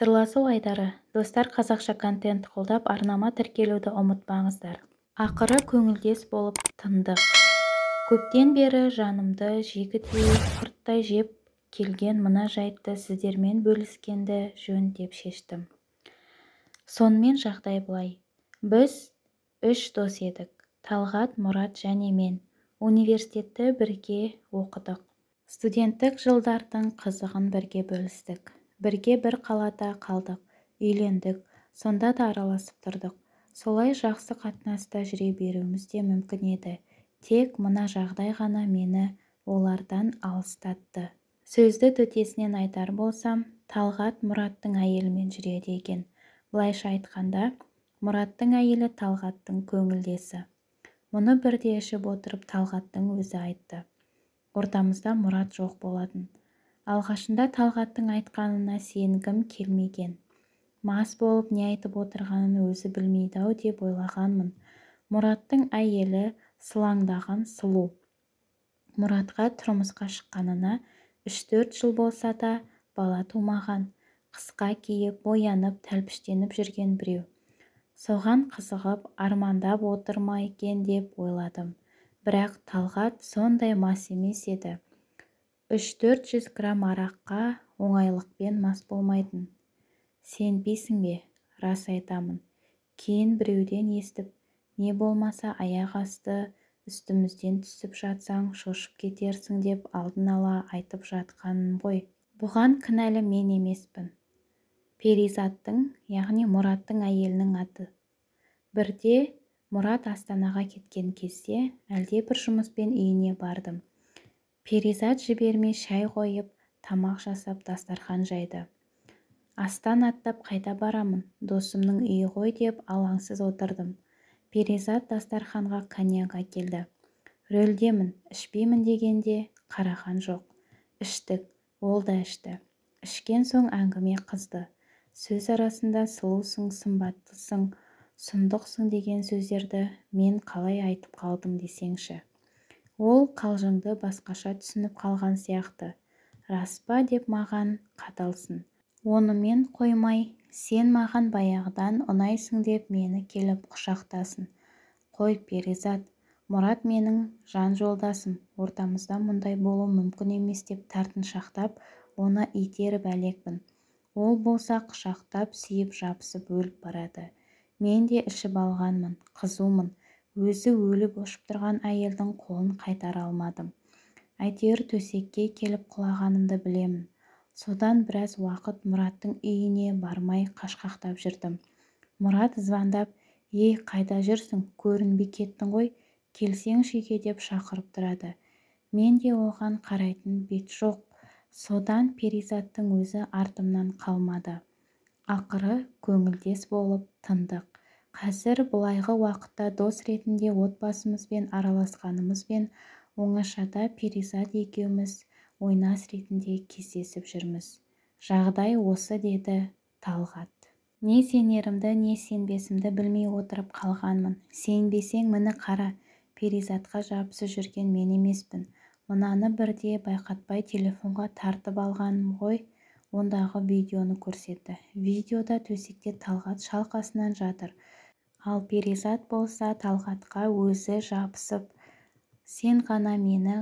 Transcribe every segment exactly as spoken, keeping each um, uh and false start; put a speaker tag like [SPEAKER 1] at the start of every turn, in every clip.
[SPEAKER 1] Сырласу айдары. Достар, қазақша контент қолдап, арнама тіркелуді ұмытпаңыздар. Ақыры көңілдес болып тындық. Көптен бері жанымды жегідей құрттай жеп келген мына жайтты сіздермен бөліскенді жөн деп шештім. Сонымен жағдай былай. Біз үш дос едік. Талғат, Мұрат және мен. Университетті бірге оқыдық. Студенттік жылдардың қызығын бірге бөлістік. Бірге бір қалада қалдық, үйлендік, сонда да араласып тұрдық. Солай жақсы қатынаста жүре беруіміз де мүмкін еді. Тек мына жағдай ғана мені олардан алыстатты. Сөзді төтесінен айтар болсам, Талғат Мұраттың әйелімен жүреді екен. Былайша айтқанда, Мұраттың әйелі Талғаттың көңілдесі. Мұны бірде ішіп отырып Талғаттың өзі айтты. Ортамызда Мұрат жоқ болатын. Алғашында Талғаттың айтқанына сенгім келмеген. Мас болып не айтып отырғанын өзі білмейді-ау деп ойлағанмын. Мұраттың әйелі сылаңдаған сұлу. Мұратқа тұрмысқа шыққанына үш-төрт жыл болса да бала тумаған. Қысқа киіп, боянып, тәлпіштеніп жүрген біреу. Соған қызығып, армандап отыр ма екен деп ойладым. Бірақ Талғат сондай мас емес еді. Үш-төрт жүз грамм араққа оңайлықпен мас болмайтын. Сенбейсің бе? Рас айтамын. Кейін біреуден естіп, не болмаса аяқ асты үстімізден түсіп жатсаң шошып кетерсің деп алдын ала айтып жатқаның ғой. Бұған кінәлі мен емеспін. Перизаттың, яғни Мұраттың әйелінің аты. Бірде Мұрат Астанаға кеткен кезде әлде бір жұмыспен үйіне бардым. Перизат жібермей шай қойып, тамақ жасап дастархан жайды. Астан аттап қайда барамын, досымның үйі ғой деп алаңсыз отырдым. Перизат дастарханға коньяк әкелді. Рөлдемін, ішпеймін дегенде қараған жоқ. Іштік, ол да ішті. Ішкен соң әңгіме қызды. Сөз арасында сұлусың, сымбаттысың, сұмдықсың деген сөздерді мен қалай айтып қалдым десеңші. Ол қалжыңды басқаша түсініп қалған сияқты. Рас па деп маған қаталсын. Онымен қоймай, сен маған баяғыдан ұнайсың деп мені келіп құшақтасын. Қой, Перизат, Мұрат менің жан жолдасым, ортамызда мұндай болу мүмкін емес деп тартыншақтап, оны итеріп әлекпін. Ол болса құшақтап, сүйіп жабысып өліп барады. Мен де ішіп алғанмын, қызумын. Өзі өліп өшіп тұрған әйелдің қолын қайтара алмадым. Әйтеуір төсекке келіп құлағанымды білемін. Содан біраз уақыт Мұраттың үйіне бармай қашқақтап жүрдім. Мұрат звондап, ей, қайда жүрсің, көрінбей кеттің ғой, келсеңші үйге деп шақырып тұрады. Мен де оған қарайтын бет жоқ. Содан Перизаттың өзі артымнан қалмады. Ақыры көңілдес болып тындық. Қазір бұлайғы уақытта дос ретінде отбасымызбен араласқанымызбен оңашада Перизат екеуміз ойнас ретінде кездесіп жүрміз. Жағдай осы, деді Талғат. Не сенерімді, не сенбесімді білмей отырып қалғанмын. Сенбесең мені қара, Перизатқа жабысып жүрген мен емеспін. Мынаны бірде байқатпай телефонға тартып алғаным ғой. Ондағы видеоны көрсетті. Видеода төсекте Талғат шалқасынан жатыр. Ал Перизат болса Талғатқа өзі жабысып, сен ғана мені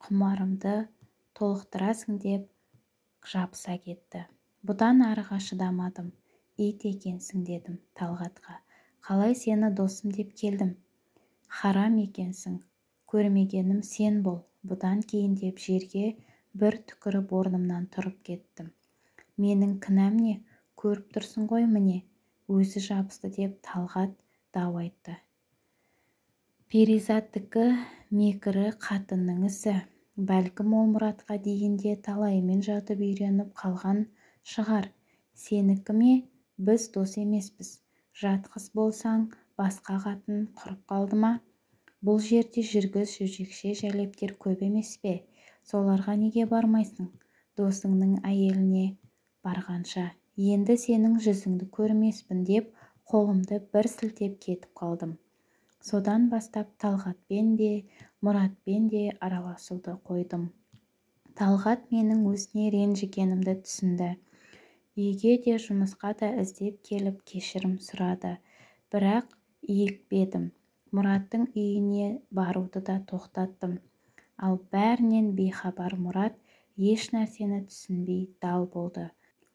[SPEAKER 1] құмарымды толықтырасың деп жабыса кетті. Бұдан арыға шыдамадым. Ит екенсің дедім Талғатқа. Қалай сені досым деп келдім? Харам екенсің. Көрмегенім сен бол. Бұдан кейін деп жерге бір түкіріп орнымнан тұрып кеттім. Менің кінәм не? Көріп тұрсың ғой міне. Өзі жабысты деп Талғат дау айтты. Перизаттікі мекірі қатынның ісі. Бәлкім ол Мұратқа дейінде талайымен жатып үйреніп қалған шығар. Сенікі ме? Біз дос емеспіз. Жатқыз болсаң, басқа қатын құрып қалды ма? Бұл жерде жүргіз жүжекше жәлептер көп емес пе? Соларға неге бармайсың? Досыңның әйеліне барғанша. Енді сенің жүзіңді көрмеспін деп қолымды бір сілтеп кетіп қалдым. Содан бастап Талғатпен де, Мұратпен де араласуды қойдым. Талғат менің өзіне ренжігенімді түсінді. Үйге де жұмысқа да іздеп келіп кешірім сұрады. Бірақ иікпедім. Мұраттың үйіне баруды да тоқтаттым. Ал бәрінен бейхабар Мұрат еш нәрсені түсінбей дал болды.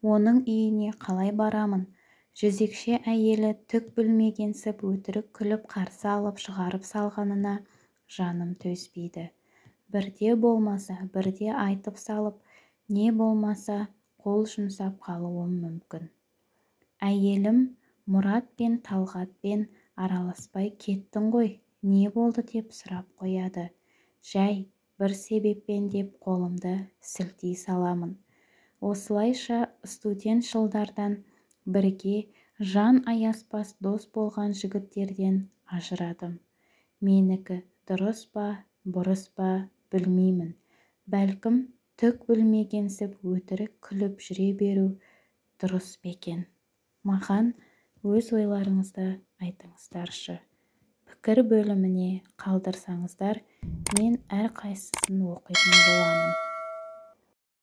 [SPEAKER 1] Оның үйіне қалай барамын? Жезекше әйелі түк білмегенсіп өтірік күліп қарсы алып шығарып салғанына жаным төзбейді. Бірде болмаса, бірде айтып салып, не болмаса қол жұмсап қалуым мүмкін. Әйелім Мұрат пен Талғатпен араласпай кеттің ғой, не болды деп сұрап қояды. Жай, бір себеппен деп қолымды сілтей саламын. Осылайша студент жылдардан бірге жан аяспас дос болған жігіттерден ажырадым. Менікі дұрыс па, бұрыс па білмеймін. Бәлкім түк білмегенсіп өтірік күліп жүре беру дұрыс бекен. Маған өз ойларыңызды айтыңыздаршы. Пікір бөліміне қалдырсаңыздар, мен әрқайсысын оқитын боламын.